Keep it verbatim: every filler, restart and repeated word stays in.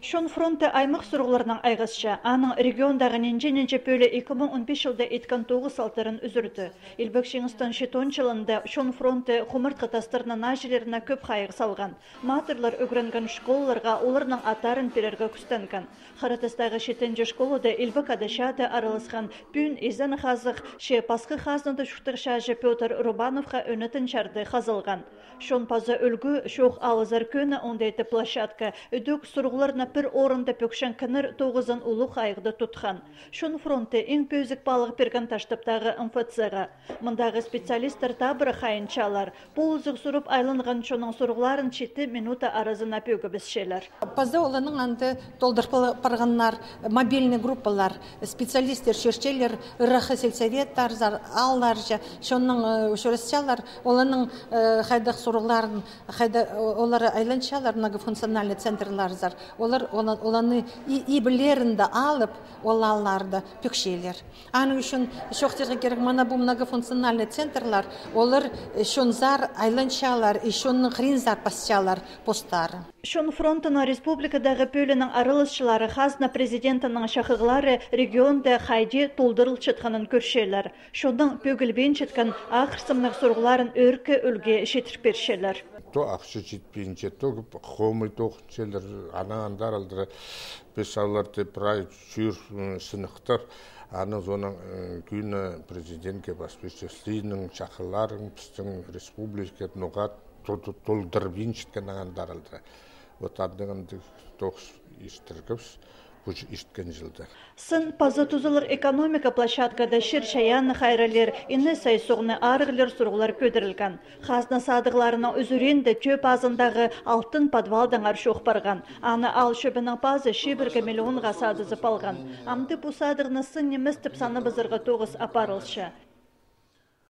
Чон фронты аймах сурығларнаң айғасча, аның региондағы нинҷе-нинҷе пӧле ікі муң он пис чылда иткен тоғыс алтарын ӱзӱрді. Илбек Чиңістің читон чылында Чон фронты хумартхы тастарның нааҷыларына кӧп хайығ салған. Матырлар ӱгренген школаларға оларның аттарын пирерге кӱстенген. Харатастағы читінҷі школада Илбек Ада чаада араласхан пӱӱн изен хазых, че пасха хазнада чуртағҷы Пётр Рубановха ӧнетін чарды хазылған. Чон паза ӱлгӱ, чоох алызар кӧні оңдайтын площадка, ідӧк сурығларны пір орында пӧкчеткеннер тоғызын улуғ хайығда тутхан. Чон фронты иң пӧзік паалағ пирген Таштыптағы МФЦ-ға. Мындағы специалисттер табырах хайынчалар. Полызығ сурып айланған чонның сурығларын читі минута аразына пӧгібісчелер. Паза оларның анда толдырып пар-, парғаннар, мобильный группалар, специалисттер чӧрчелер, ыраххы сельсоветтарзар, аалларҷа, чонның, э, ӱчӱрісчелер, оларның, э, хайдағ сурығларын, хайда, о-, олар айланчалар, многофункциональный центрларзар, олар, олар, оларны и-, иблерінде алып, ол аалларда пӧкчелер. Аның ӱчӱн чоохтирға кирек, мына пу многофункциональный центрлар, олар, э, чонзар айланчалар, и чонның хыринзар пасчалар постары. Чон фронтының республикадағы пӧлиинің араласчылары хазна президентінің чахығлары регионда хайди толдырылчатханын кӧрчелер. Чонның пӧгілбинчеткен ахырсымнығ сурығларын ӧӧркі ӱлгӱ читіріп пирчелер. То ахча читпинче, то хомай тоғынчалар, анаң андар алдыра піс оларды прай чӧр, м, сыныхтап, аның соонаң, м, кӧні президентке пас пирче: синің чахығларың пістің республика ноға ту-, ту-, толдырбинчатханнаң андар алдыра. Вот андағ андағ тоғыс иртіргебіс пу иткен чылда. Сын паза тузалығ экономика площадкада чир-чайаанны хайралир, ине сай суғны арығлир сурығлар кӧдірілген. Хазна садығларының ӱзӱрінде тӧӧ пазындағы алтын подвалдаңар чоох парған. Аны аал чӧбінің пазы чибіргі миллионға садызып алған. Амды пу садығны сын нимес тіп санабызарға тоғыс апарылча.